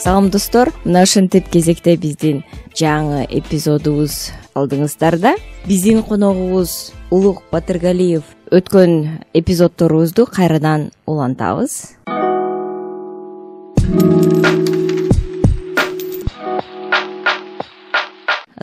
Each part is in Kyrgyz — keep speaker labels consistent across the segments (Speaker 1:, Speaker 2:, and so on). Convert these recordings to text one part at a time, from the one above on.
Speaker 1: Салам достор, мына ушинтип кезекте биздин жаңы эпизодубуз алдыңыздарда. Биздин коногубуз Улук Батыргалиев. Өткөн эпизодторубузду кайрадан улантабыз.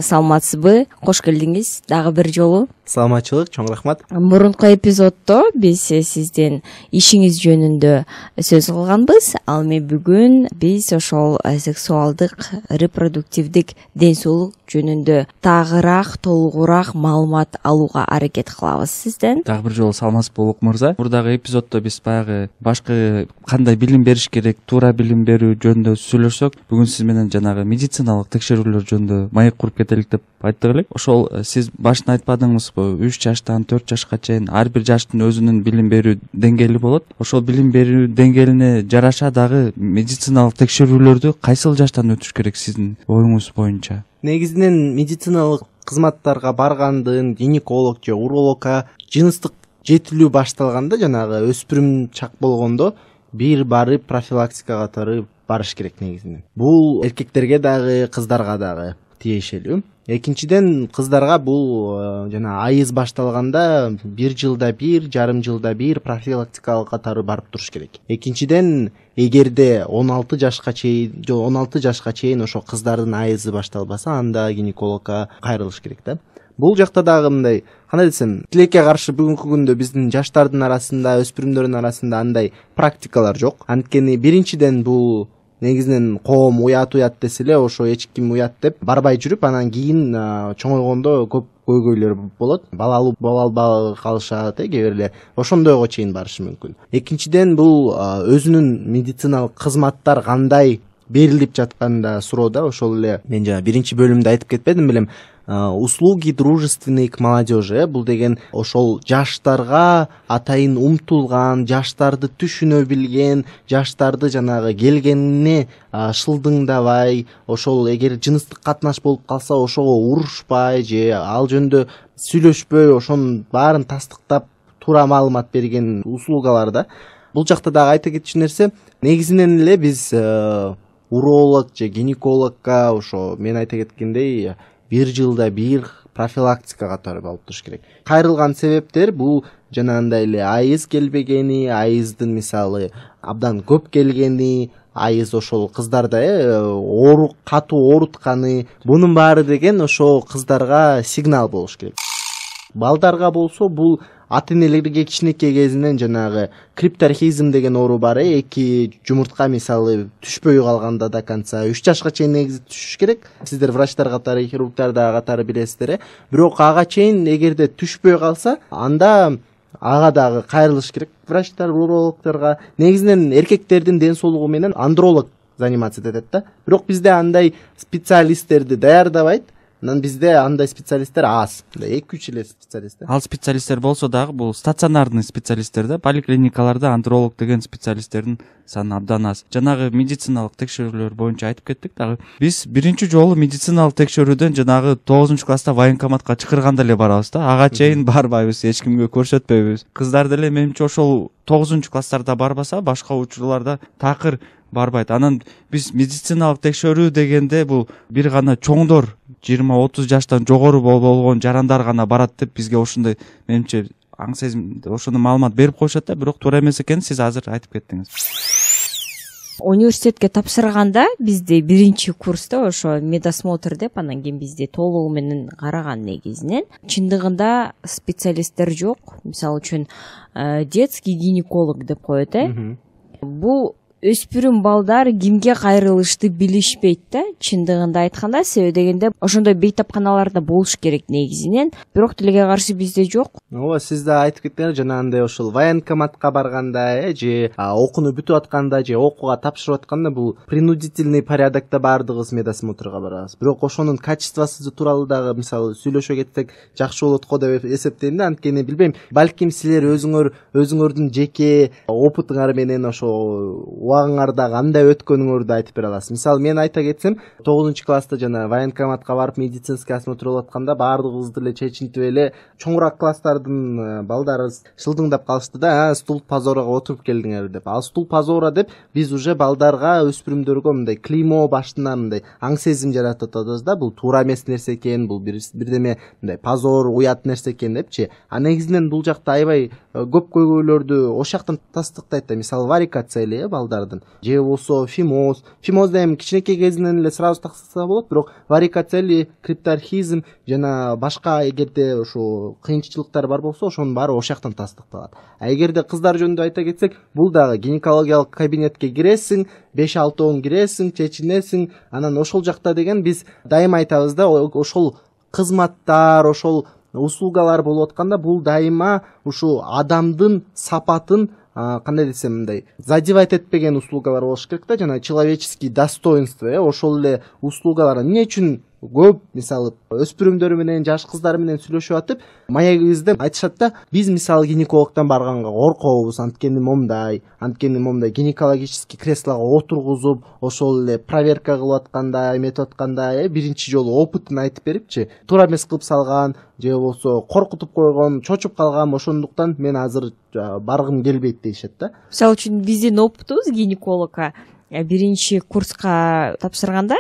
Speaker 1: Саламатсызбы? Кош келдиңиз дагы бир жолу.
Speaker 2: Саламатчылык, чоң рахмат.
Speaker 1: Мурунку эпизоддо биз сиздин ишиңиз жөнүндө сөз кылганбыз. Ал эми бүгүн биз ошол сексуалдык, репродуктивдик ден соолук жөнүндө тагыраак, толугураак маалымат алууга аракет кылабыз сизден.
Speaker 3: Дагы бир жолу саламатсызбы Улук мырза. Мурдагы эпизоддо биз баягы башкы кандай билим бериш керек, туура билим берүү жөнүндө сүйлөшсөк, бүгүн сиз менен жанагы медициналык текшерүүлөр жөнүндө маек куруп кетелик деп айттык элек. Ошол сиз башында айтпадыңызбы? 3 жаштан 4 жашка чейин ар бир жаштын өзүнүн билим берүү деңгээли болот. Ошол билим берүү деңгээлине жараша дагы медициналык текшерүүлөрдү кайсыл жаштан өтүш керек сиздин оюңуз боюнча?
Speaker 2: Негизинен медициналык кызматтарга баргандын гинеколог же урологко жыныстык жетилүү башталганда, жанагы өспүрүм чак болгондо бир барып профилактика катары барыш керек негизинен. Бул эркектерге дагы, кыздарга дагы тиешелүү. Экинчиден, кыздарга бул жана айыз башталганда 1 жылда 1, жарым жылда 1 профилактикалык катары барып туруш керек. Экинчиден, эгерде 16 жашка чейин ошо кыздардын айызы башталбаса, анда гинекологко кайрылыш керек да. Бул жакта дагы мындай, кандай десем, тилекке каршы бүгүнкү күндө биздин жаштардын арасында, өспүрүмдөрдүн арасында андай практикалар жок. Анткени биринчиден бул негизинен коом уят десе эле, ошо эч ким уят деп барбай жүрүп, анан кийин чоңойгондо көп көйгөйлөр болот. Балалуу боло албай калышат, кээ бирлер ошондойго чейин барышы мүмкүн. Экинчиден, бул өзүнүн медициналык кызматтар кандай берилип жатканда суроо да. Ошол эле мен жана биринчи бөлүмдө айтып кетпедим белем, услуги дружественной к молодежи. Бул деген ошол жаштарга атайын умтулган, жаштарды түшүнө билген, жаштарды жанагы келгенине шылдыңдабай, ошол эгер жыныстык катнаш болуп калса ошого урушпай же ал жөнүндө сүйлөшпөй, ошонун баарын тастыктап туура маалымат берген услугалар да. Бул жакта дагы айта кетчү нерсе, негизинен эле биз уролог же гинекологко ошо мен айта кеткендей 1 жылда 1 профилактика катары алып туруш керек. Кайрылган себептер бул жанагындай эле айыз келбегени, айыздын мисалы абдан көп келгени, айыз ошол кыздарда катуу оорутканы, бунун баары деген ошо кыздарга сигнал болуш керек. Балдарга болсо бул ата-энелерге кичинекей кезинен жанагы крипторхизм деген оору бар. Эки жумуртка мисалы түшпөй калганда до конца 3 жашка чейин негизи түшүш керек. Сиздер врачтар катары, хирургтар да катары билесиздер. Бирок ага чейин эгерде түшпөй калса, анда ага дагы кайрылыш керек врачтар, урологторго. Негизинен эркектердин ден соолугу менен андролог заниматься этет да. Бирок бизде андай специалисттерди даярдабайт. Анан бизде андай специалисттер аз. 2-3 эле специалисттер.
Speaker 3: Ал специалисттер болсо дагы бул стационарный специалисттер да, поликлиникаларда андролог деген специалисттердин саны абдан аз. Жанагы медициналык текшерүүлөр боюнча айтып кеттик дагы. Биз биринчи жолу медициналык текшерүүдөн жанагы 9-класста военкоматка чакырганда эле барабыз да. Ага чейин барбайбыз, эч кимге көрсөтпөйбүз. Кыздар деле менимче ошол 9-класстарда барбаса, башка учурларда такыр барбайт. Анан биз медициналык текшерүү дегенде бул бир гана чоңдор 20-30 жаштан жогору болгон жарандар гана барат деп бизге ошондой менимче аң сезим, ошондой маалымат берип коюшат да, бирок туура эмес экенин сиз азыр айтып кеттиңиз.
Speaker 1: Университетке тапшырганда бизде биринчи курста ошо медосмотр деп, анан кийин бизде толугу менен караган негизинен. Чындыгында специалисттер жок. Мисалы үчүн детский гинеколог деп коет, Бул өспүрүм балдар кимге кайрылышты билишпейт да, чындыгында айтканда. Себеби дегенде ошондой бейтапканаларда болуш керек негизинен, бирок тилекке каршы бизде жок.
Speaker 2: Ооба, сиз да айтып кеттиңиз, жанагындай ошол военкоматка барганда, же окууну бүтүп атканда, же окууга тапшырып атканда бул принудительный порядокто баардыгыбыз медосмотрго барабыз. Бирок ошонун качествосу тууралуу дагы мисалы сүйлөшө кетсек жакшы болот го деп эсептейм да. Анткени билбейм, балким силер өзүңөрдүн жеке опытыңар менен ошо убагыңарда кандай өткөнүңөрдү айтып бере аласыз? Мисалы мен айта кетсем, 9-класста жана военкоматка барып медицинский осмотр болуп атканда баардыгыбызды эле чечинтип эле чоңураак класстардын балдары шылдыңдап калышты да, стул позорого отуруп келдиңер деп. Ал стул позора деп биз уже балдарга, өспүрүмдөргө мындай клеймо башынан мындай аң сезим жаратып атабыз да, бул туура эмес нерсе экен, бул бирдеме мындай позор, уят нерсе экен депчи. А негизинен бул жакта аябай көп көйгөйлөрдү ошол жактан тастыктайт да. Мисалы варикация балдардын, же болбосо фимоз эми кичинекей кезинен эле сразу тастаса болот, бирок варикация, крипторхизм жана башка эгерде ушу кыйынчылыктар бар болсо, ошонун баары ошол жактан тастыкталат. А эгерде кыздар жөнүндө айта кетсек, бул дагы гинекологиялык кабинетке киресиң, 5-6 киресиң, чечинесиң, анан ошол жакта деген биз дайыма айтабыз да, ошол кызматтар, ошол услугалар болуп атканда бул дайыма ушу адамдын сапатын кандай десем мындай задевать этпеген услугалар болуш керек да, жана человеческий достоинство, ошол эле услугалар. Эмне үчүн көп мисалы өспүрүмдөр менен, жаш кыздар менен сүйлөшүп атып, маегибизде айтышат да, биз мисалы гинекологдон барганга коркобуз, анткени момдай гинекологический креслого отургузуп, ошол эле проверка кылып атканда, эметип атканда, биринчи жолу опытын айтып берипчи, туура эмес кылып салган, же болбосо коркутуп койгон, чочуп калган, ошондуктан мен азыр баргым келбейт дейишет да.
Speaker 1: Мисалы үчүн биздин опытыбыз гинекологко биринчи курска тапшырганда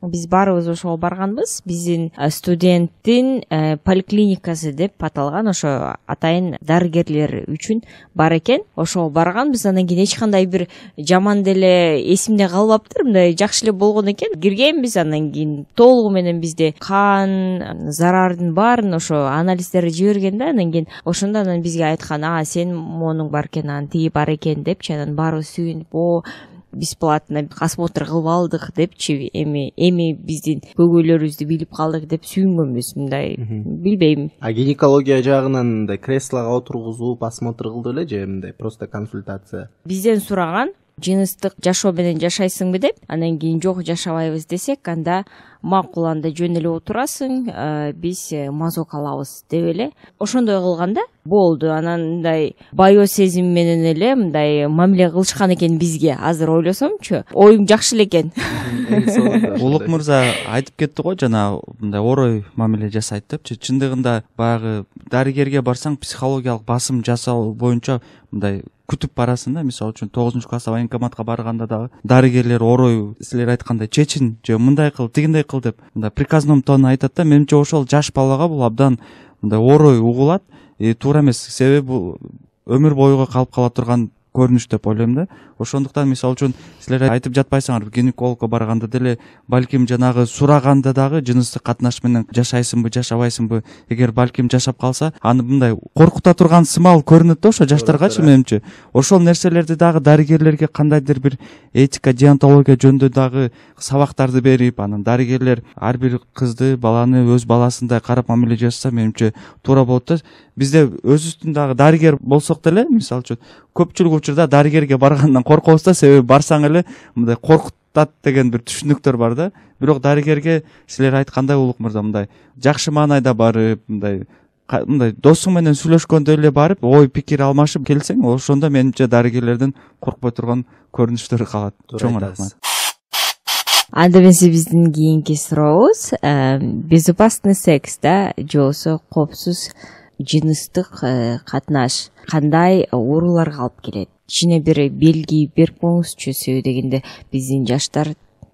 Speaker 1: биз баарыбыз ошого барганбыз. Биздин студенттин поликлиникасы деп аталган ошо атайын дарыгерлер үчүн бар экен. Ошого барганбыз. Андан кийин эч кандай бир жаман деле эсимде калбаптыр, мындай жакшы эле болгон экен. Киргенбиз, андан кийин толугу менен бизде кан зарардын баарын ошо анализдерди жиберген да. Андан кийин ошондо анан бизге айткан, сен монуң бар экен, анан тиги бар экен депчи. Анан баарыбыз сүйүнүп, бесплатно осмотр кылып алдык депчи, эми биздин көйгөйлөрүбүздү билип калдык деп сүйүнгөнбүз. Мындай билбейм.
Speaker 2: А гинекология жагынан мындай креслого отургузуп осмотр кылды беле, же мындай просто консультация?
Speaker 1: Бизден сураган, жыныстык жашоо менен жашайсыңбы деп. Андан кийин жок, жашабайбыз десек, анда макул, анда жөн эле отурасың, биз мазок алабыз деп эле. Ошондой кылганда болду. Анан мындай байоо сезим менен эле мындай мамиле кылышкан экен бизге. Азыр ойлосомчу, оюң жакшы эле экен.
Speaker 3: Улук мырза айтып кетти го, жана мындай орой мамиле жасайт депчи. Чындыгында баягы дарыгерге барсаң, психологиялык басым жасоо боюнча мындай күтүп барасың да. Мисалы үчүн 9-класста военкоматка барганда дагы дарыгерлер орой силер айткандай чечин, же мындай кыл, тигиндей кыл деп мындай приказном тону айтат да. Менимче ошол жаш балага бул абдан мындай орой угулат, туура эмес, себеби бул өмүр боюга калып кала турган көрүнүш деп ойлойм да. Ошондуктан мисалы үчүн силер айтып жатпайсыңар, гинекологко барганда деле балким жанагы сураганда дагы жыныстык катнаш менен жашайсыңбы, жашабайсыңбы, эгер балким жашап калса, аны мындай коркута турган сымал көрүнөт да ошо жаштаргачы. Менимче ошол нерселерди дагы дарыгерлерге кандайдыр бир этика, деонтология жөнүндө дагы сабактарды берип, анан дарыгерлер ар бир кызды, баланы өз баласындай карап мамиле жасаса, менимче туура болот да. Бизде өзүбүздүн дагы дарыгер болсок деле, мисалы үчүн көпчүлүк учурда дарыгерге баргандан коркобуз да, себеби барсаң эле мындай коркутат деген бир түшүнүктөр бар да. Бирок дарыгерге силер айткандай, улук мырза, мындай жакшы маанайда барып, мындай досуң менен сүйлөшкөндөй эле барып, ой пикир алмашып келсең, ошондо менимче дарыгерлердин коркпой турган көрүнүштөрү калат. Чоң рахмат.
Speaker 1: Анда эмесе биздин кийинки сурообуз безопасный секс да, же болбосо коопсуз жыныстык катнаш кандай ооруларга алып келет? Кичине бир белги берип коюңузчу, себеби дегенде биздин жаштар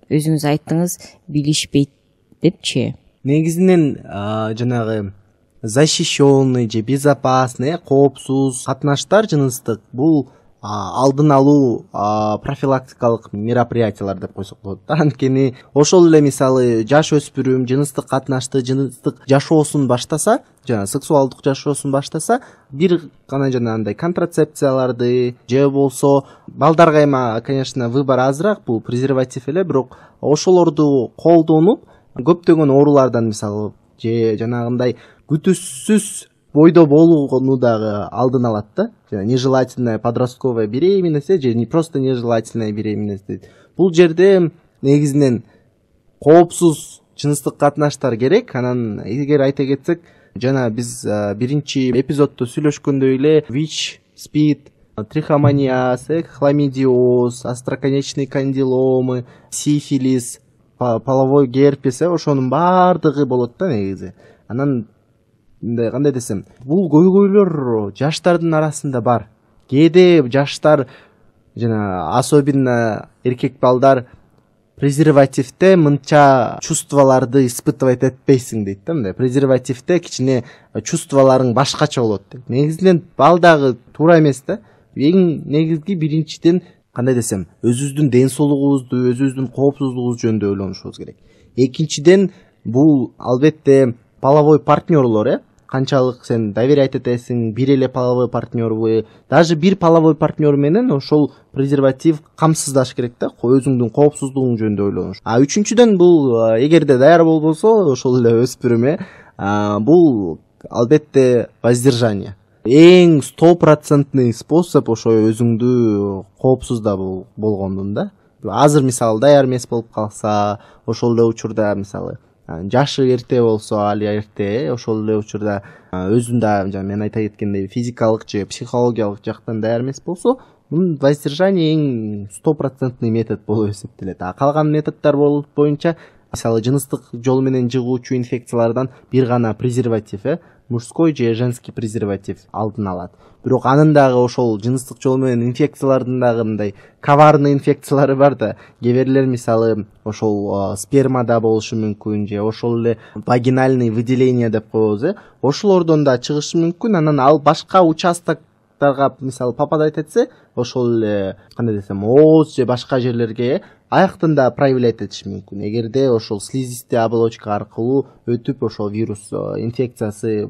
Speaker 1: өзүңүз айттыңыз билишпейт депчи.
Speaker 2: Негизинен жанагы защищенный же безопасный, коопсуз катнаштар жыныстык бул алдын алуу профилактикалык мероприятиялар деп койсок болот да. Анткени ошол эле мисалы жаш өспүрүм жыныстык катнашты, жыныстык жашоосун баштаса, жана сексуалдык жашоосун баштаса, бир гана жанагындай контрацепцияларды же болсо балдарга эми, конечно, выбор азыраак, бул презерватив эле, бирок ошолорду колдонуп көптөгөн оорулардан, мисалы, же жанагындай күтүүсүз бойдо болууну дагы алдын алат да. Нежелательная подростковая беременность же не просто нежелательная беременность. Бул жерде негизинен коопсуз жыныстык катнаштар керек. Анан эгер айта кетсек, жана биз биринчи эпизоддо сүйлөшкөндөй эле ВИЧ, СПИД, трихомонияз, хламидиоз, остроконечный кандиломы, сифилис, половой герпес, ошонун баардыгы болот да негизи. Анан кандай десем, бул көйгөйлөр жаштардын арасында бар. Кээде жаштар жана особенно эркек балдар презервативде мынча чувстволорду испытывать этпейсиң дейт да, мындай. Презервативде кичине чувстволоруң башкача болот дейт. Негизинен бал дагы туура эмес да. Эң негизги биринчиден кандай десем, өзүбүздүн ден соолугубузду, өзүбүздүн коопсуздугубуз жөнүндө ойлонушубуз керек. Экинчиден, бул албетте половой партнерлор, канчалык сен доверять этесиң, бир эле половой партнербу, даже бир половой партнер менен ошол презерватив камсыздаш керек да, өзүңдүн коопсуздугуң жөнүндө ойлонуш. Үчүнчүдөн, бул эгерде даяр болбосо, ошол эле өспүрүм, бул албетте воздержание. Эң 100% способ ошо өзүңдү коопсуз да болгондун да. Азыр мисалы даяр эмес болуп калса, ошол эле учурда мисалы жашы эрте болсо, али эрте, ошол эле учурда өзүн да жана мен айта кеткендей физикалык же психологиялык жактан даяр эмес болсо, бул воздержание эң 100% метод болуп эсептелет. Калган методдор боюнча мисалы жыныстык жол менен жыгуучу инфекциялардан бир гана презерватив, мужской же женский презерватив алдын алат. Бирок анын дагы ошол жыныстык жол менен инфекциялардын дагы мындай коварный инфекциялары бар да. Кээ мисалы ошол спермада болушу мүмкүн, же ошол эле вагинальный выделение деп коебуз, ошолордон да чыгышы мүмкүн. Анан ал башка участоктарга мисалы попадать этсе, ошол эле кандай десем, ооз же башка жерлерге аяктан да проявлять этиши мүмкүн. Эгерде ошол слизистый оболочка аркылуу өтүп ошол вирус инфекциясы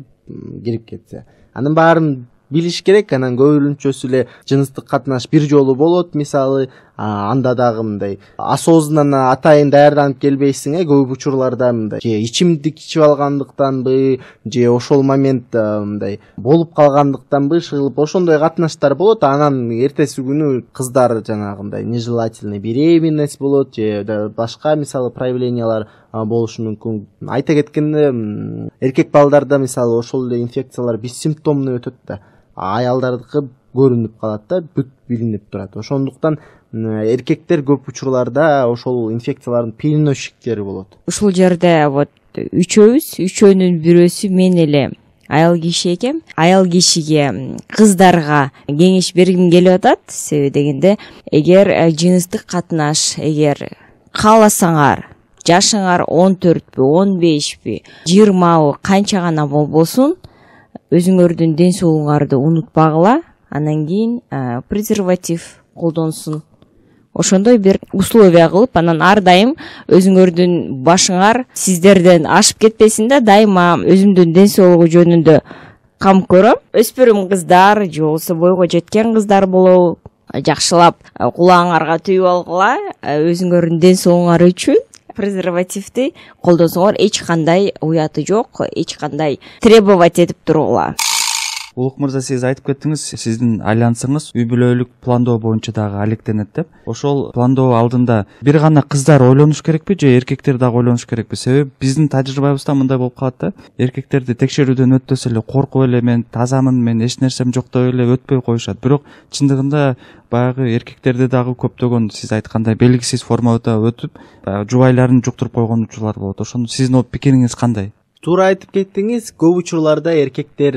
Speaker 2: кирип кетсе. Анын баарын билиш керек. Анан көбүнчөсү эле жыныстык катнаш бир жолу болот, мисалы анда дагы мындай осознанно атайын даярданып келбейсиң, көп учурларда мындай же ичимдик ичип алгандыктанбы, же ошол момент мындай болуп калгандыктанбы шыгылып ошондой катнаштар болот. Анан эртеси күнү кыздар жанагындай нежелательный беременность болот, же башка мисалы проявлениялар болушу мүмкүн. Айта кеткенде, эркек балдарда мисалы ошол эле инфекциялар бессимптомный өтөт да, аялдардыкы көрүнүп калат да, бүт билинип турат. Ошондуктан эркектер көп учурларда ошол инфекциялардын переносчиктери болот.
Speaker 1: Ушул жерде вот үчөөнүн бирөөсү мен эле аял киши экем. Аял кишиге, кыздарга кеңеш бергим келип атат. Себеби дегенде, эгер жыныстык катнаш, эгер кааласаңар, жашыңар 14пү, 15пи, 20бы, канча гана болбосун, өзүңөрдүн ден соолугуңарды унутпагыла, анан кийин презерватив колдонсун. Ошондой бир условия кылып, анан ар дайым өзүңөрдүн башыңар сиздерден ашып кетпесин да, дайыма өзүмдүн ден соолугу жөнүндө кам көрөм. Өспүрүм кыздар же болбосо бойго жеткен кыздар болобу, жакшылап кулагыңарга түйүп алгыла, өзүңөрдүн ден соолугуңар үчүн презервативди колдонсоңор эч кандай уяты жок, эч кандай требовать этип тургула.
Speaker 3: Улук мырза, сиз айтып кеттиңиз, сиздин альянсыңыз үй бүлөлүк пландоо боюнча дагы алектенет деп. Ошол пландоо алдында бир гана кыздар ойлонуш керекпи же эркектер дагы ойлонуш керекпи? Себеби биздин тажрыйбабызда мындай болуп калат да, эркектерди текшерүүдөн өтпөсө эле коркуп эле мен тазамын, мен эч нерсем жок деп эле өтпөй коюшат. Бирок чындыгында баягы эркектерде дагы көптөгөн сиз айткандай белгисиз формада өтүп, жубайларын жуктуруп койгон учурлар болот. Ошондо сиздин пикириңиз кандай?
Speaker 2: Туура айтып кеттиңиз. Көп учурларда эркектер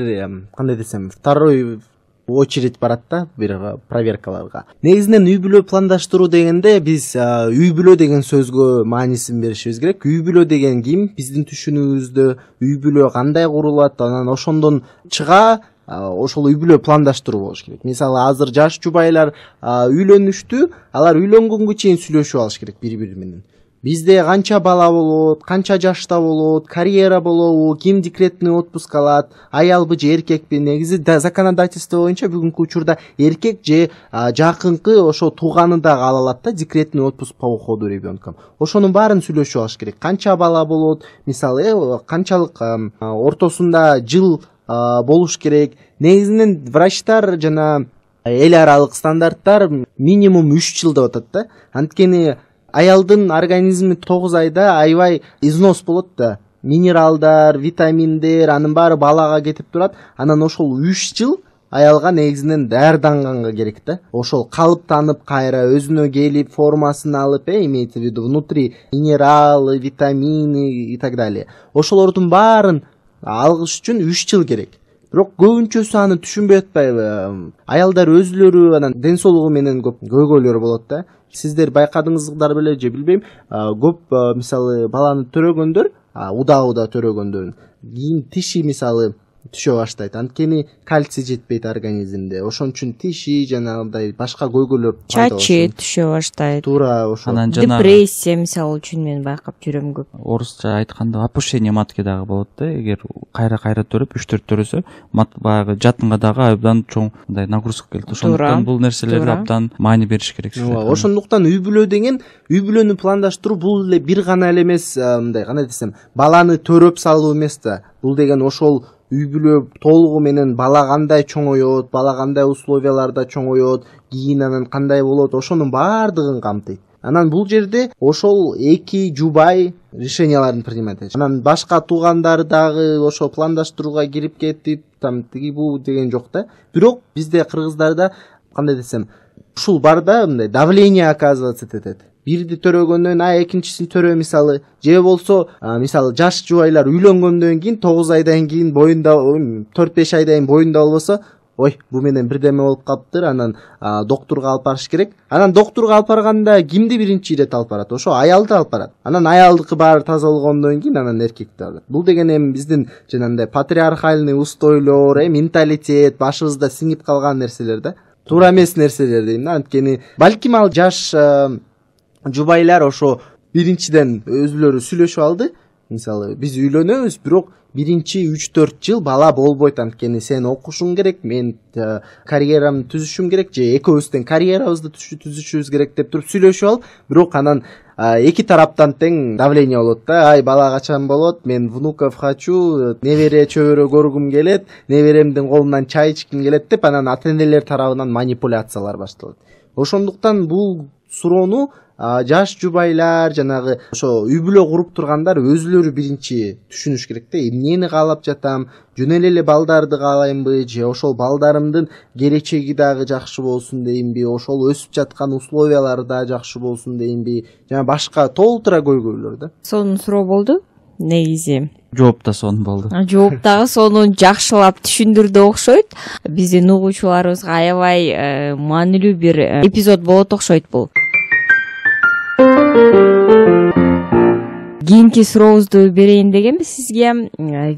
Speaker 2: кандай десем, второй очередь барат да бир проверкаларга. Негизинен үй бүлө пландаштыруу дегенде биз үй бүлө деген сөзгө маанисин беришибиз керек. Үй бүлө деген ким? Биздин түшүнүгүбүздө үй бүлө кандай курулат? Анан ошондон чыга ошол үй бүлө пландаштыруу болуш керек. Мисалы азыр жаш жубайлар үйлөнүштү, алар үйлөнгөнгө чейин сүйлөшүп алыш керек бири-бири менен. Бизде канча бала болот, канча жашта болот, карьера болобу, ким декретный отпуск алат, аялбы же эркекпи? Негизи законодательство боюнча бүгүнкү учурда эркек же жакынкы ошо тууганы дагы ала алат да, декретный отпуск по уходу ребенком. Ошонун баарын сүйлөшүп алыш керек. Канча бала болот, мисалы канчалык ортосунда жыл болуш керек. Негизинен врачтар жана эл аралык стандарттар минимум 3 жыл деп атат да. Анткени аялдын организми 9 айда аябай износ болот да. Минералдар, витаминдер, анын баары балага кетип турат. Анан ошол 3 жыл аялга негизинен даярданганга керек да. Ошол калыптанып кайра өзүнө келип формасын алып, имеется в виду внутри минералы, витамины и так далее. Ошолордун баарын алгыш үчүн 3 жыл керек. Бирок көбүнчөсү аны түшүнбөй атпайбы. Аялдар өзүлөрү анан ден соолугу менен көп көйгөйлөр болот да. Сиздер байкадыңыздар беле же билбейм, көп мисалы баланы төрөгөндөр, удаа төрөгөндөрүн кийин тиши мисалы түшө баштайт. Анткени кальций жетпейт организмде. Ошон үчүн тиши жанагындай башка көйгөйлөр
Speaker 1: чачы түшө баштайт.
Speaker 2: Туура ошо.
Speaker 3: Анан
Speaker 1: Депрессия мисалы үчүн мен байкап жүрөм көп.
Speaker 3: Орусча айтканда опущение матки дагы болот да. Эгер кайра төрөп 3-4 төрөсө, баягы жатынга дагы абдан чоң мындай нагрузка келет. Ошондуктан бул нерселерди абдан маани бериш керек.
Speaker 2: Ошондуктан үй бүлө деген, үй бүлөнү пландаштыруу бул эле бир гана эле эмес, мындай кандай десем, баланы төрөп салуу эмес да. Бул деген ошол үй бүлө толугу менен бала кандай чоңоет, бала кандай условияларда чоңоет, кийин анан кандай болот, ошонун баардыгын камтыйт. Анан бул жерде ошол эки жубай решенияларын принимать этет. Анан башка туугандар дагы ошо пландаштырууга кирип кетип, там тиги бу деген жок да. Бирок бизде кыргыздарда кандай десем, ушул бар да, мындай давление оказываться этет. Бирди төрөгөндөн экинчисин төрө мисалы, же болсо мисалы жаш жубайлар үйлөнгөндөн кийин 9 айдан кийин боюнда 4-5 айдан кийин боюнда болбосо, ой, бу менен бирдеме болуп калыптыр, анан доктурга алып барыш керек. Анан доктурга алып барганда кимди биринчи ирет алып барат? Ошо аялды алып барат. Анан аялдыкы баары таза болгондон кийин анан эркекти алат. Бул деген эми биздин жанагындай патриархальный устойлор, менталитет, башыбызда сиңип калган нерселер да. Туура эмес нерселер дейм да. Анткени балким ал жаш жубайлар ошо биринчиден өзүлөрү сүйлөшүп алды. Мисалы биз үйлөнөбүз, бирок биринчи 3-4 жыл бала болбойт, анткени сен окушуң керек, мен карьерамды түзүшүм керек, же экөөбүздүн карьерабызды түзүшүбүз керек деп туруп сүйлөшүп алып, бирок анан эки тараптан тең давление болот да. Ай, бала качан болот? Мен внуков хочу, небере чөбөрө көргүм келет, неберемдин колунан чай ичким келет деп анан ата-энелер тарабынан манипуляциялар башталат. Ошондуктан бул суроону жаш жубайлар, жанагы ошо үй бүлө куруп тургандар өзүлөрү биринчи түшүнүш керек да. Эмнени каалап жатам? Жөн эле балдарды каалаймбы, же ошол балдарымдын келечеги дагы жакшы болсун деймби, ошол өсүп жаткан условиялары да жакшы болсун деймби, жана башка толтура көйгөйлөр да.
Speaker 1: Сонун суроо болду негизи.
Speaker 3: Жооп да сонун болду.
Speaker 1: Жооп дагы сонун жакшылап түшүндүрдү окшойт. Биздин угуучуларыбызга аябай маанилүү бир эпизод болот окшойт бул. Кийинки сурообузду берейин дегенбиз сизге.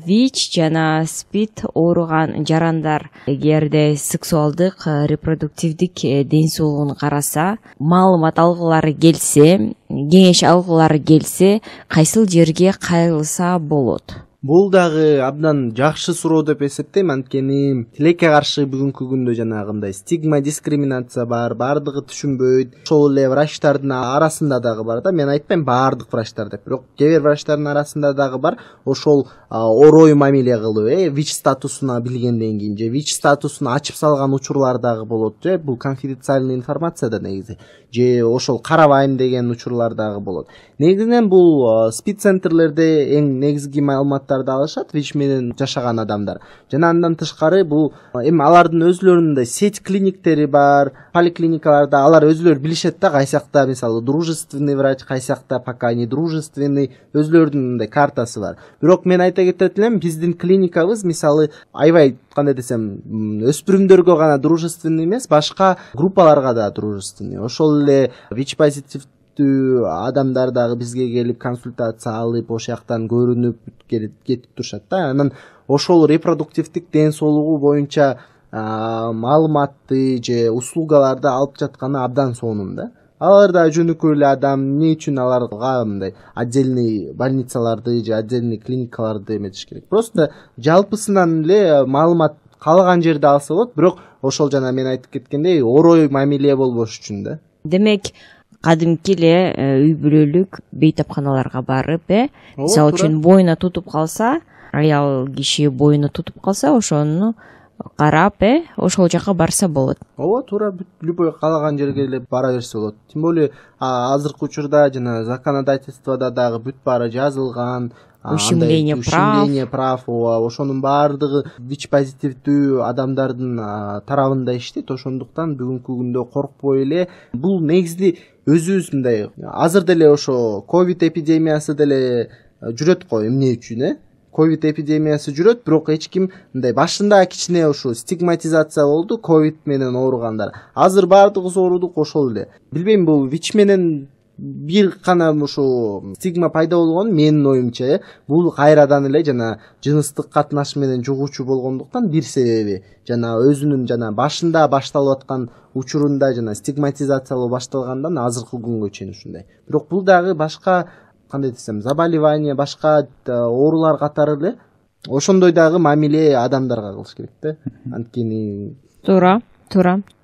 Speaker 1: ВИЧ жана СПИД ооруган жарандар эгерде сексуалдык, репродуктивдик ден соолугун караса, маалымат алгылары келсе, кеңеш алгылары келсе, кайсыл жерге кайрылса болот?
Speaker 2: Бул дагы абдан жакшы суроо деп эсептейм, анткени тилекке каршы бүгүнкү күндө жанагындай стигма, дискриминация бар, баардыгы түшүнбөйт. Ошол эле врачтардын арасында дагы бар да. Мен айтпайм баардык врачтар деп, бирок кээ бир врачтардын арасында дагы бар ошол орой мамиле кылуу, ВИЧ статусуна билгенден кийин же ВИЧ статусун ачып салган учурлар дагы болот, же бул конфиденциальный информация да негизи, же ошол карабайм деген учурлар дагы болот. Негизинен бул СПИД центрлерде эң негизги маалыматтарды алышат ВИЧ менен жашаган адамдар. Жана андан тышкары бул эми алардын өзүлөрүнүн сеть клиниктери бар, поликлиникаларда алар өзүлөрү билишет да, кайсакта мисалы дружественный врач, кайсакта пока не дружественный, өзүлөрүнүн мындай картасы бар. Бирок мен айта кетет элем, биздин клиникабыз мисалы аябай кандай десем, өспүрүмдөргө гана дружественный эмес, башка группаларга да дружественный. Ошол эле ВИЧ позитив адамдар дагы бизге келип консультация алып, ошол жактан көрүнүп кетип турушат да. Анан ошол репродуктивдик ден соолугу боюнча маалыматты же услугаларды алып жатканы абдан сонун да. Алар да жөнөкөй эле адам, эмне үчүн аларга мындай отдельный больницаларды же отдельный клиникаларды эметиш керек? Просто жалпысынан эле маалымат каалаган жерде алса болот, бирок ошол жана мен айтып кеткендей орой мамиле болбош үчүн да.
Speaker 1: Демек, кадимки эле үй бүлөлүк бейтапканаларга барып, мисалы үчүн боюна тутуп калса, аял киши боюна тутуп калса, ошону карап ошол жака барса болот.
Speaker 2: ооба, туура, любой каалаган жерге эле бара берсе болот. Тем более азыркы учурда жана законодательствода дагы бүт баары жазылган.
Speaker 1: Ущемление
Speaker 2: прав, ошонун баардыгы ВИЧ позитивдүү адамдардын тарабында иштейт. Ошондуктан бүгүнкү күндө коркпой эле бул негизи өзүбүз мындай азыр деле ошо ковид эпидемиясы деле жүрөт го. Эмне үчүн ковид эпидемиясы жүрөт, бирок эч ким мындай башында кичине ушу стигматизация болду ковид менен ооругандар. Азыр баардыгыбыз оорудук ошол эле. Билбейм, бул ВИЧ менен бир гана ушу стигма пайда болгон менин оюмча бул кайрадан эле жана жыныстык катнаш менен жугуучу болгондуктан бир себеби жана өзүнүн жана башында башталып аткан учурунда жана стигматизациялоо башталгандан азыркы күнгө чейин ушундай. Бирок бул дагы башка кандай десем заболевание, башка оорулар катары эле ошондой дагы мамиле адамдарга кылыш керек да. Анткени
Speaker 1: туура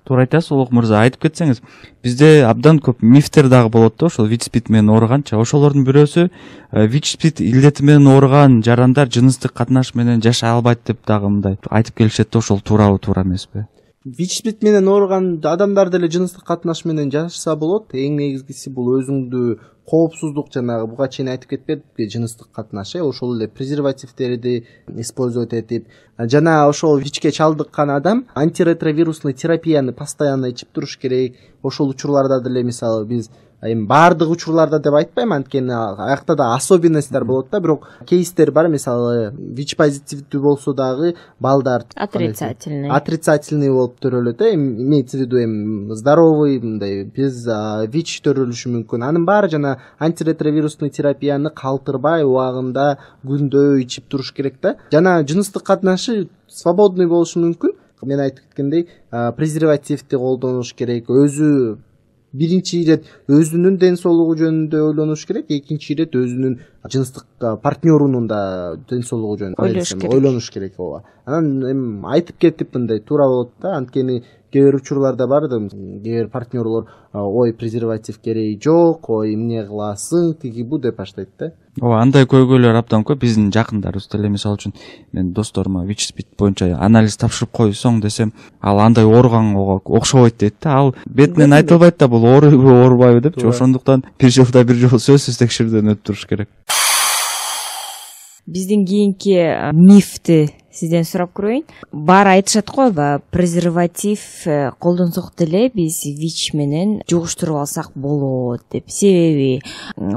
Speaker 3: айтасыз, Улук мырза, айтып кетсеңиз. Бизде абдан көп мифтер дагы болот да, ошол ВИЧ-СПИД менен ооруганча. Ошолордун бирөөсү ВИЧ-СПИД илдети менен ооруган жарандар жыныстык катнаш менен жашай албайт деп дагы мындай айтып келишет да, ошол туурабы, туура эмеспи?
Speaker 2: ВИЧ-СПИД менен ооруган адамдар деле жыныстык катнаш менен жашаса болот. Эң негизгиси бул өзүңдү коопсуздук, жанагы буга чейин айтып кетпедикпи, жыныстык катнаш ошол эле презервативдерди использовать этип, жана ошол ВИЧке чалдыккан адам антиретровирусный терапияны постоянно ичип туруш керек. Ошол учурларда деле мисалы биз эми баардык учурларда деп айтпайм, анткени аякта да особенностьтер болот да, бирок кейстер бар. Мисалы ВИЧ позитивдүү болсо дагы балдар отрицательный болуп төрөлөт, имеется в виду эми здоровый мындай без ВИЧ төрөлүшү мүмкүн. Анын баары жана антиретровирусный терапияны калтырбай убагында күндө ичип туруш керек да. Жана жыныстык катнашы свободный болушу мүмкүн. Мен айтып кеткендей, презервативди колдонуш керек. Өзү биринчи ирет өзүнүн ден соолугу жөнүндө ойлонуш керек, экинчи ирет өзүнүн жыныстык партнерунун да ден соолугу жөнүндө ойлонуш керек. ооба. Анан эми айтып кетип мындай туура болот да, анткени кээ бир учурларда бар да, кээ бир партнерлор ой презерватив кереги жок, ой эмне кыласың тиги бу деп баштайт да.
Speaker 3: Ооба, андай көйгөйлөр абдан көп. Биздин жакындарыбыз деле, мисалы үчүн мен досторума ВИЧ-СПИД боюнча анализ тапшырып койсоң десем, ал андай ооруганга окшобойт дейт да. Ал бетинен айтылбайт да бул оорубу оорубайбы депчи. Ошондуктан бир жылда бир жолу сөзсүз текшерүүдөн өтүп туруш керек.
Speaker 1: Биздин кийинки мифти сизден сурап көрөйүн. Баары айтышат го, презерватив колдонсок деле биз ВИЧ менен жугуштуруп алсак болот деп. Себеби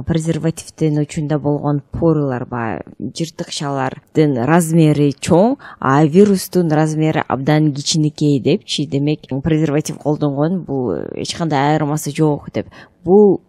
Speaker 1: презервативдин учунда болгон порылар, жыртыкчалардын размери чоң, а вирустун размери абдан кичинекей депчи. Демек презерватив колдонгон бул эч кандай айырмасы жок деп. Бул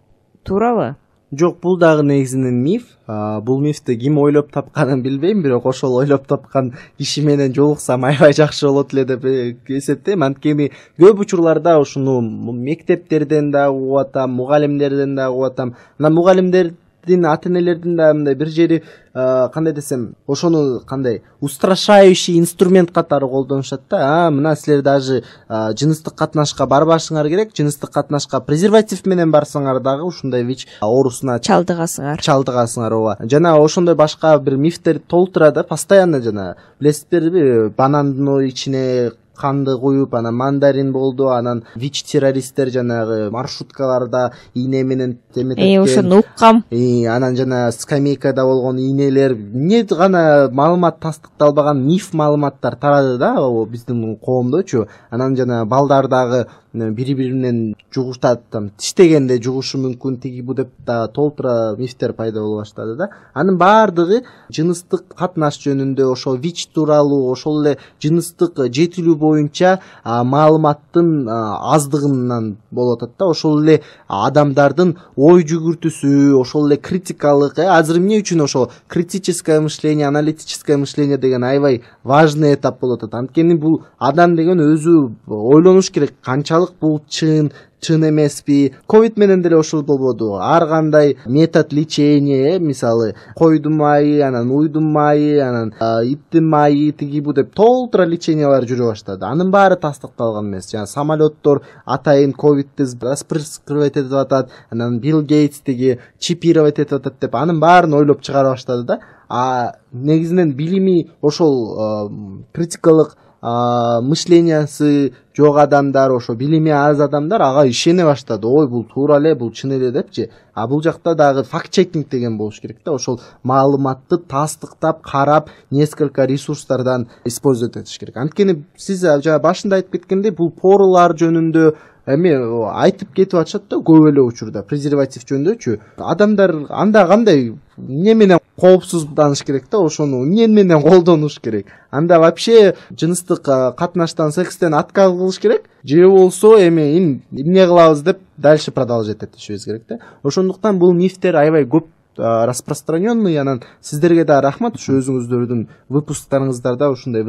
Speaker 1: туурабы?
Speaker 2: Жок, бул дагы негизинен миф. Бул мифти ким ойлоп тапканын билбейм, бирок ошол ойлоп тапкан киши менен жолуксам аябай жакшы болот эле деп эсептейм. Анткени көп учурларда ушуну мектептерден да угуп атам, мугалимдерден да угуп атам. Анан мугалимдердин, ата-энелердин да мындай бир жери кандай десем, ошону кандай устрашающий инструмент катары колдонушат да. Мына силер даже жыныстык катнашка барбашыңар керек, жыныстык катнашка презерватив менен барсаңар дагы ушундай ВИЧ оорусуна чалдыгасыңар. ооба. Жана ошондой башка бир мифтер толтура да постоянно. Жана билесиздерби, банандын ичине канды куюп, анан мандарин болду, анан ВИЧ террористтер жанагы маршруткаларда ийне менен теметет.
Speaker 1: Ошону уккам.
Speaker 2: Анан жана скамейкада болгонийнелер, эмне гана маалымат тастыкталбаган миф маалыматтар тарады да биздин коомдочу. Анан жана балдар дагы бири-бири менен жугуштат, тиштегенде жугушу мүмкүн, тиги бу деп да толтура мифтер пайда боло баштады да. Анын баардыгы жыныстык катнаш жөнүндө, ошол ВИЧ тууралуу, ошол эле жыныстык жетилүү боюнча маалыматтын аздыгынан болуп атат да. Ошол эле адамдардын ой жүгүртүүсү, ошол эле критикалык, азыр эмне үчүн ошол критическое мышление, аналитическое мышление деген аябай важный этап болуп атат. Анткени бул адам деген өзү ойлонуш керек, канчалык бул чын эмеспи. Ковид менен деле ошол болбоду. Ар кандай метод лечения, мисалы койдун майы, анан уйдун майы, анан иттин майы, тиги бу деп толтура лечениялар жүрө баштады. Анын баары тастыкталган эмес. Жана самолеттор атайын ковидти распрыскивать этип атат, анан Билл Гейтс тиги чипировать этип атат деп анын баарын ойлоп чыгара баштады да. Негизинен билими ошол критикалык мышлениясы жок адамдар, ошо билими аз адамдар ага ишене баштады. Ой, бул туура эле, бул чын эле депчи. А бул жакта дагы факт-чекинг деген болуш керек да. Ошол маалыматты тастыктап, карап, несколько ресурстардан использовать этиш керек. Анткени сиз жана башында айтып кеткендей, бул поролар жөнүндө эми айтып кетип атышат да көп эле учурда презерватив жөнүндөчү. Адамдар анда кандай эмне менен коопсуздданыш керек да, ошону эмне менен колдонуш керек. Анда вообще жыныстык катнаштан, секстен отказ кылыш керек же болсо эми эмне кылабыз деп дальше продолжать этишибиз керек да. Ошондуктан бул мифтер аябай көп распространенный. Анан сиздерге да рахмат, ушу өзүңүздөрдүн выпусктарыңыздарда ушундай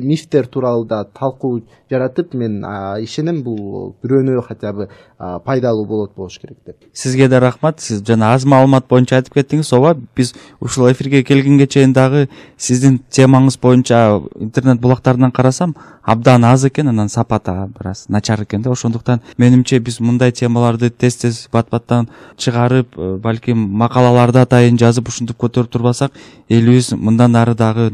Speaker 2: мифтер тууралуу да талкуу жаратып, мен ишенем бул бирөөнө хотя бы пайдалуу болуш керек деп.
Speaker 3: Сизге да рахмат. Сиз жана аз маалымат боюнча айтып кеттиңиз. Ооба, биз ушул эфирге келгенге чейин дагы сиздин темаңыз боюнча интернет булактарынан карасам, абдан аз экен, анан сапаты бир аз начар экен да. Ошондуктан менимче биз мындай темаларды тез бат-баттан чыгарып, балким макалаларды атайын жазып ушинтип көтөрүп турбасак, элибиз мындан ары дагы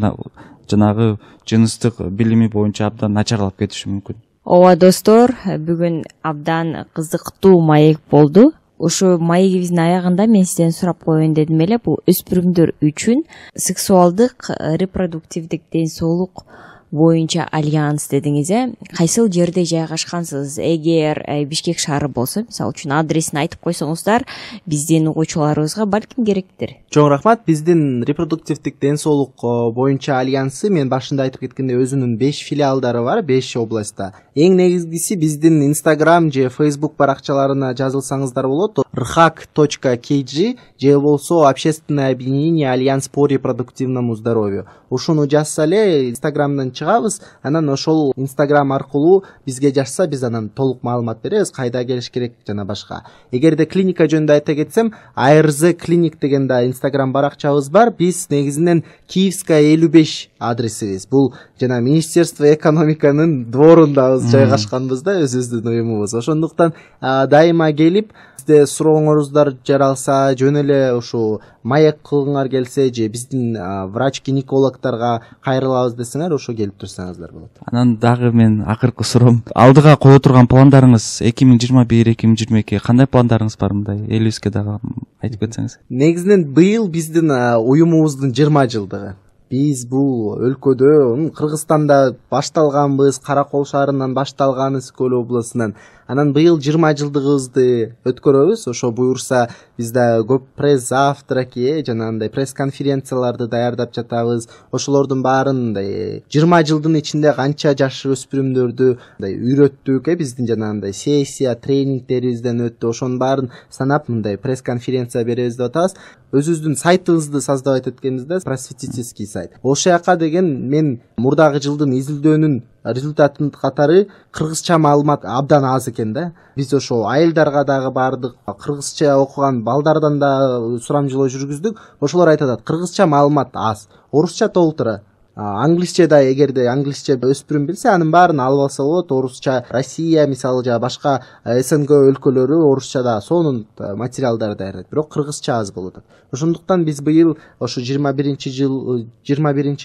Speaker 3: жанагы жыныстык билими боюнча абдан начарлап кетиши мүмкүн.
Speaker 1: Ооба достор, бүгүн абдан кызыктуу маек болду. Ушу маегибиздин аягында мен сизден сурап коеюн дедим эле, бул өспүрүмдөр үчүн сексуалдык репродуктивдик ден соолук боюнча альянс дедиңиз, кайсыл жерде жайгашкансыз? Эгер Бишкек шаары болсо, мисалы үчүн адресин айтып койсоңуздар, биздин угуучуларыбызга балким керектир.
Speaker 2: Чоң рахмат. Биздин репродуктивдик ден соолук боюнча альянсы, мен башында айтып кеткендей, өзүнүн 5 филиалдары бар, 5 областта. Эң негизгиси биздин Instagram же Facebook баракчаларына жазылсаңыздар болот. rhak.kg же болсо Общественное объединение Альянс по репродуктивному здоровью. Ушуну жазса эле Instagramдан чыгабыз. Анан ошол Instagram аркылуу бизге жазса, биз анан толук маалымат беребиз, кайда келиш керек жана башка. Эгерде клиника жөнүндө айта кетсем, ARZ клиник деген да Instagram баракчабыз бар. Биз негизинен Киевская 55 адресибиз. Бул жана Министерство экономиканын дворунда жайгашканбыз да, өзүбүздүн уюмубуз. Ошондуктан дайыма келип, сизде сурооңоруздар жаралса, жөн эле ушу маек кылгыңар келсе же биздин врач-гинекологторго кайрылабыз десеңер, ошо келип турсаңыздар болот.
Speaker 3: Анан дагы мен акыркы суроом, алдыга кое турган пландарыңыз 2021-2022 кандай пландарыңыз бар, мындай элибизге дагы айтып кетсеңиз?
Speaker 2: Негизинен быйыл биздин уюмубуздун 20 жылдыгы. Биз бул өлкөдө, Кыргызстанда башталганбыз, Каракол шаарынан башталган, Скөл областынан. Анан быйыл 20 жылдыгыбызды өткөрөбүз. Ошо буюрса, бизде көп пресс-завтраки, жанагындай пресс-конференцияларды даярдап жатабыз. Ошолордун баарын 20 жылдын ичинде канча жаш өспүрүмдөрдү үйрөттүк, биздин жанагындай сессия, тренингтерибизден өттү. Ошонун баарын санап, мындай пресс-конференция беребиз деп атабыз. Өзүбүздүн сайтыбызды создавать эткенбизде, просветительский сайт. Ошол жака деген мен мурдагы жылдын изилдөөнүн результатын катары кыргызча маалымат абдан аз экен да. Биз ошо айылдарга дагы бардык, кыргызча окуган балдардан да сурамжылоо жүргүздүк. Ошолор айтат, кыргызча маалымат аз, орусча толтура. Англисче да, эгерде англисче өспүрүм билсе, анын баарын алып алса болот. Орусча Россия, мисалы, жана башка СНГ өлкөлөрү орусча да сонун материалдар даярдайт, бирок кыргызча аз болуп атат. Ошондуктан биз быйыл ошо 21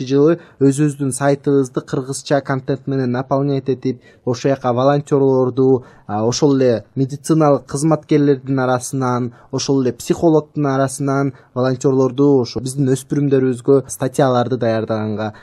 Speaker 2: жылы өзүбүздүн сайтыбызды кыргызча контент менен наполнять этип, ошол жака волонтерлорду, ошол эле медициналык кызматкерлердин арасынан, ошол эле психологдун арасынан волонтерлорду, ошо биздин өспүрүмдөрүбүзгө статьяларды даярдаганга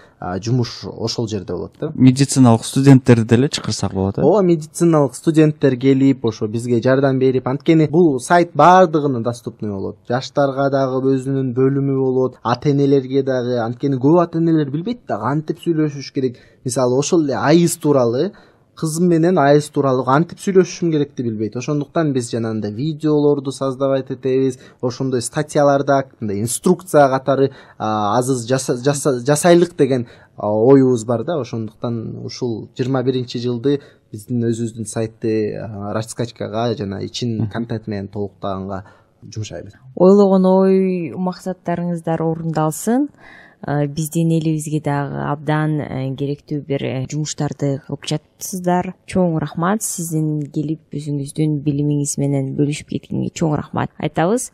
Speaker 2: жумуш ошол жерде болот да.
Speaker 3: Медициналык студенттерди деле чакырсак болот.
Speaker 2: Ооба, медициналык студенттер келип, ошо бизге жардам берип, анткени бул сайт баардыгына доступный болот. Жаштарга дагы өзүнүн бөлүмү болот, ата-энелерге дагы, анткени көп ата-энелер билбейт да кантип сүйлөшүш керек. Мисалы, ошол эле айыз тууралуу, кызым менен айыз тууралуу кантип сүйлөшүшүм керекти билбейт. Ошондуктан биз жанагындай видеолорду создавать этебиз, ошондой статьяларда инструкция катары азыз жасайлык деген оюбуз бар да. Ошондуктан ушул 21 жылды биздин өзүбүздүн сайтты раскачкага жана ичин контент менен толуктаганга жумшайбыз.
Speaker 1: Ойлогон ой максаттарыңыздар орундалсын. Биздин элибизге дагы абдан керектүү бир жумуштарды кылып жатсыздар. Чоң рахмат, сиздин келип өзүңүздүн билимиңиз менен бөлүшүп кеткенге чоң рахмат айтабыз.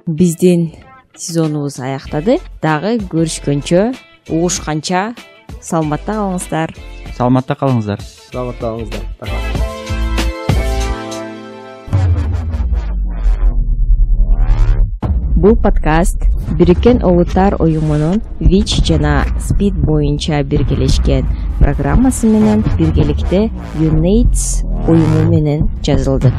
Speaker 1: Биздин сезонубуз аяктады. Дагы көрүшкөнчө, угушканча саламатта калыңыздар.
Speaker 3: Саламатта калыңыздар.
Speaker 2: Саламатта калыңыздар.
Speaker 1: Бул подкаст Бириккен Улуттар уюмунун ВИЧ жана СПИД боюнча биргелешкен программасы менен биргеликте UNAIDS уюму менен жазылды.